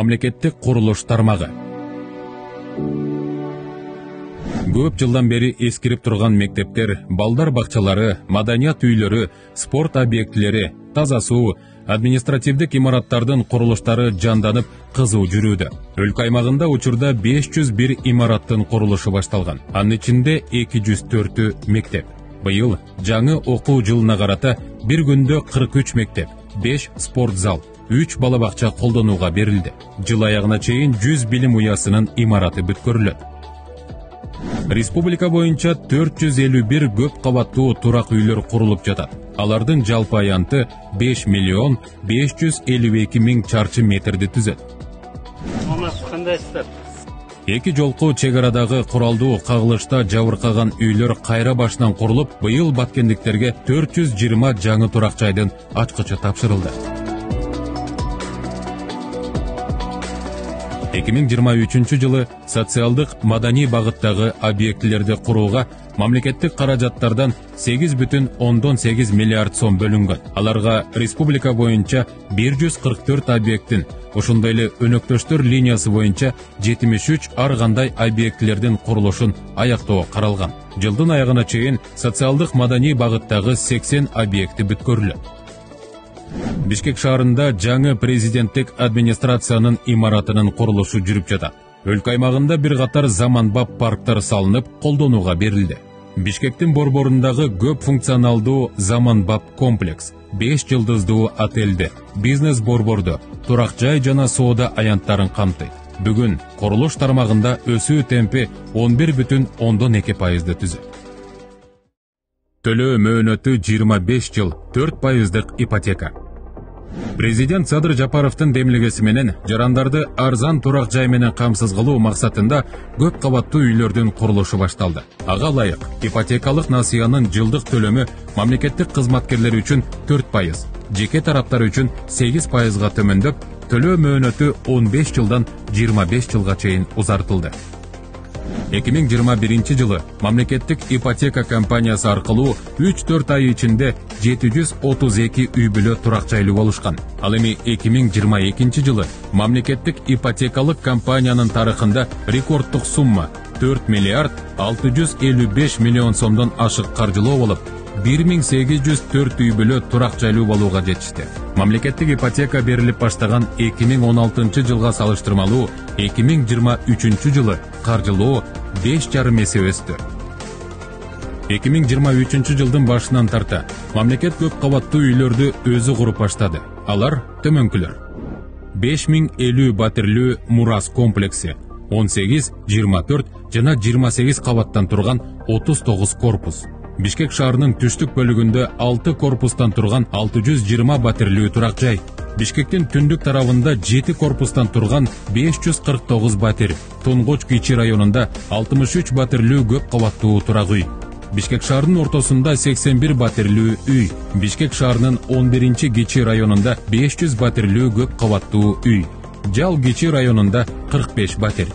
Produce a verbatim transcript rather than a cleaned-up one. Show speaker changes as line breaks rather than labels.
мамлекеттик курулуш тармагы. Көп жылдан бери эскирип турган мектептер, балдар бакчалары, маданият үйлөрү, спорт объектилери, таза суу, административдик имараттардын курулуштары жанданып, кызуу жүрүүдө. Өлкө аймагында учурда беш жүз бир имараттын курулушу башталган. Анын ичинде эки жүз төртү мектеп. Быйыл жаңы окуу жылына карата бир күндө кырк үч мектеп, беш спорт зал, үч бала бакча колдонууга берилди. Жыл аягына чейин жүз билим уясынын имараты бүткөрүлөт. Республика боюнча төрт жүз элүү бир көп кабаттуу турак үйлөр курулуп жатат. Алардын жалпы аянты беш миллион беш жүз элүү эки миң чарчы метрди түзөт.
Кандайсыздар?
Эки жолку чек арадагы куралдуу кагылышта жабыркаган үйлөр кайра башынан курулуп, быйыл баткендиктерге төрт жүз жыйырма жаңы турак жайдын ачкычы тапшырылды. эки миң жыйырма үчүнчү жылы социалдык маданий багыттагы объектилерди курууга мамлекеттик каражаттардан сегиз бүтүн ондон сегиз миллиард сом бөлүнгөн. Аларга республика боюнча бир жүз кырк төрт объекттин, ошондой эле өнөктөштөр линиясы боюнча жетимиш үч ар кандай объектилердин курулушун аяктоо каралган. Жылдын аягына чейин социалдык маданий багыттагы сексен объекти бүткөрүлөт. Бишкек шаарында жаңы президенттик администрациянын имаратынын курулушу жүрүп жатат. Өлкө аймагында бир катар заманбап парктар салынып, колдонууга берилди. Бишкектин борборундагы көп функционалдуу заманбап комплекс, беш жылдыздуу отелди, бизнес борборду, турак жай жана соода аянттарын камтыйт. Бүгүн курулуш тармагында өсүү темпи он бир бүтүн ондон эки пайызды түзөт. Төлөө мөөнөтү жыйырма беш жыл, төрт пайыздык ипотека. Президент Садыр Жапаровдун демилгеси менен жарандарды арзан турак жай менен камсыз кылуу максатында көп кабаттуу үйлөрдүн курулушу башталды. Ага ылайык ипотекалык насыянын жылдык төлөмү мамлекеттик кызматкерлер үчүн төрт пайыз, жеке тараптар үчүн сегиз пайызга төмөндөп, төлөө мөөнөтү он беш жылдан жыйырма беш жылга чейин узартылды. эки миң жыйырма биринчи жылы мамлекеттик ипотека компаниясы аркылуу үч төрт ай ичинде жети жүз отуз эки үй бүлө турак жайлуу болушкан. Ал эми эки миң жыйырма экинчи жылы мамлекеттик ипотекалык компаниянын тарыхында рекорддук сумма төрт миллиард алты жүз элүү беш миллион сомдон ашык каржылоо болуп, бир миң сегиз жүз төрт үй бүлө турак жайлуу болууга жетишти. Мамлекеттик ипотека берилип баштаган эки миң он алтынчы жылга салыштырмалуу эки миң жыйырма үчүнчү жылы каржылоо беш жарым эсе өстү. эки миң жыйырма үчүнчү жылдын башынан тарта мамлекет көп кабаттуу үйлөрдү өзү куруп баштады. Алар төмөнкүлөр: беш миң элүү батирлүү Мурас комплекси, он сегиз, жыйырма төрт жана жыйырма сегиз кабаттан турган отуз тогуз корпус. Бишкек шаарынын түштүк бөлүгүндө алты корпустан турган алты жүз жыйырма батирлүү турак жай. Бишкектин түндүк тарабында жети корпустан турган беш жүз кырк тогуз батир. Тунгуч кичи районунда алтымыш үч батирлүү көп кабаттуу турак үй. Бишкек шаарынын ортосунда сексен бир батирлүү үй. Бишкек шаарынын он биринчи кичи районунда беш жүз батирлүү көп кабаттуу үй. Жал кичи районунда кырк беш батир.